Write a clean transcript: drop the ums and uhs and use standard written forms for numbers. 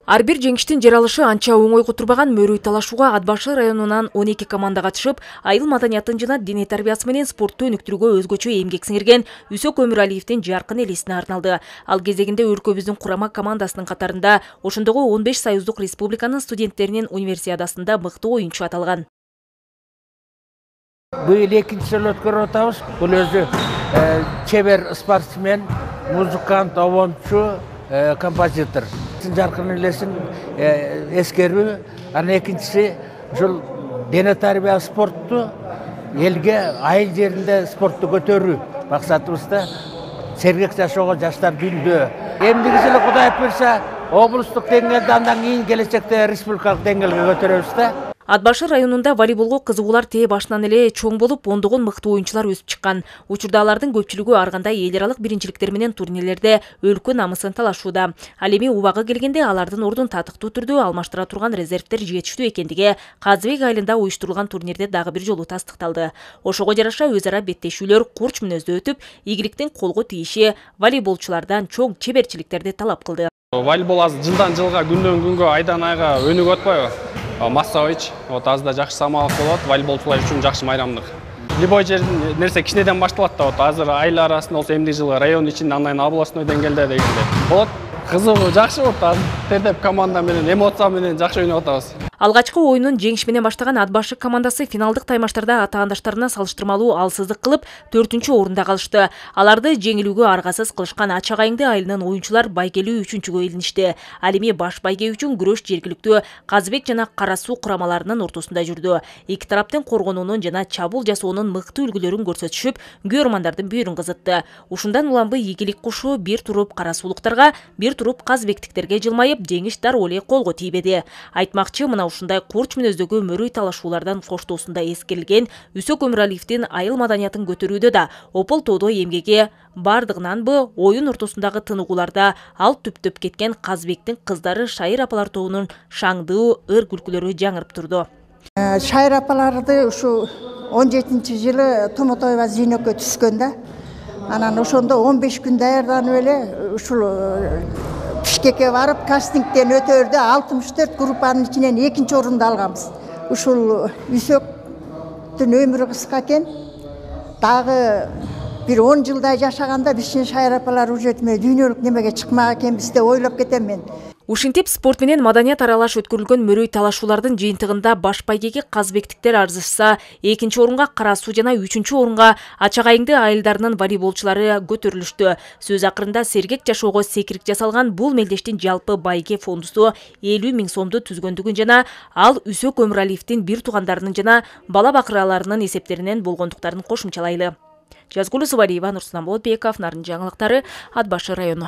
Ар бир жеңиштин жаралышы анча оңой кутурбаган мөрүй талашууга Ат башы районунан 12 команда катышып, айыл маданиятын жана дене тарбиясы менен спортту өнүктүрүүгө өзгөчө эмгек сиңирген Үсөк Өмүралиевдин жаркын элесине арналды. Ал кезегинде өлкөбүздүн курама командасынын катарында ошондогу 15 союздук республиканын студенттеринин универсиадасында мыктуу оюнчу аталган. Быйыл экинчи жолу өткөрүп атабыз. Бул өзү чебер спортсмен, музыкант, обончу, композитор. Жаркын элесин эскерүү, анан экинчиси ушул дене тарбия спортту элге айыл жеринде спортту көтөрүү максатыбызда сергек жашоого жаштарды үндөө. Эмдиги жылы Кудай буйрса облустук деңгээлде андан кийин келечекте республикалык деңгээлге көтөрөбүз да. Ат башы районунда волейболго кызыгуулар тээ башынан эле чоң болуп, ондогон мыктуу оюнчулар өсүп чыккан. Учурда алардын көпчүлүгү ар кандай эл аралык биринчиликтер менен турнирлерде өлкө намысын талашууда. Ал эми убагы келгенде алардын ордун татыктуу түрдө алмаштыра турган резервдер жетиштүү экендиги Казыбек айылында уюштурулган турнирде дагы бир жолу тастыкталды. Ошого жараша өз ара беттешүүлөр курч мүнөздө өтүп, ийгиликтин колго тийиши волейболчулардан чоң чеберчиликтерди талап кылды. Волейбол азыр жылдан жылга, күндөн күнгө, айдан айга өнүгүп атпайбы? Массович, азыр да жакшы самалык болот, волейболчулар үчүн жакшы майрамдык. Любой жердин нерсе кичинеден башталат да, азыр айыл арасында болсо эмдиги жылы район ичинде, андан областной деңгээлде дегенде. Болот, кызыгуу жакшы болот, азыр тердеп команда менен, эмоция менен жакшы ойноп атабыз. Алгачкы оюнун жеңиш менен баштаган Ат башы командасы финалдык таймаштарда атаандаштарына салыштырмалуу алсыздык кылып, 4-орунда калышты. Аларды жеңилүүгө аргасыз кылышкан Ачак айылы айылынын оюнчулар байгелүү 3-кө илиништи. Ал эми баш байге үчүн күрөш жергиликтүү Казыбек жана Кара Суу курамаларынын ортосунда жүрдү. Эки тараптын коргонуунун жана чабуул жасоонун мыктуу үлгүлөрүн көрсөтүшүп, күйөрмандардын бүйүрүн кызытты. Ушундан улам ийгилик кушу бир туруп Кара Суулуктарга, бир туруп Казыбектиктерге жылмайып, жеңиш дароо эле колго тийбеди. Айтмакчы, мына ушундай курч мүнөздөгү мөрүй талашуулардан коштоосунда эскерилген Үсөк Өмүралиевдин айыл маданиятын көтөрүүдө да опол тоодо эмгеги бардыгынанбы оюн ортосундагы тыныгууларда ал түптөп кеткен Казыбектин кыздары Шайыр апалар тобунун шаңдуу ыр күлкүлөрү жаңырып турду. Шайыр апаларды ушу 17-жылы Томотоева Зейнөккө түшкөн да. Анан ошондо 15 күн даярданып эле ушул Бишкекке барып, кастингден өтөрдө 64 группанын ичинен 2-орунду алганбыз. Ушул Үсөктүн өмүрү кыска экен. Дагы бир 10 жылдай жашаганда биздин Шайыр апалар уже дүйнөлүк немеге чыкмак экенбиз деп ойлоп кетем мен. Ушинтип спорт менен маданият аралаш өткөрүлгөн мөрүй талашуулардын жыйынтыгында баш байгеги Казыбектиктер арзышса, 2-орунга Кара Суу жана 3-орунга Ачак айылы айылдарынын волейболчулары көтөрүлүштү. Сөз акырында сергек жашоого секирик жасалган бул мелдештин жалпы байге фондусу 50 000 сомду түзгөндүгүн жана ал Үсөк Өмүралиевдин бир туугандарынын жана бала бакыраларынын эсептеринен болгондуктарын кошумчалайлы. Жазгулу Субалиева, Нурсултан Болотбеков, Нарын жаңылыктары, Ат башы району.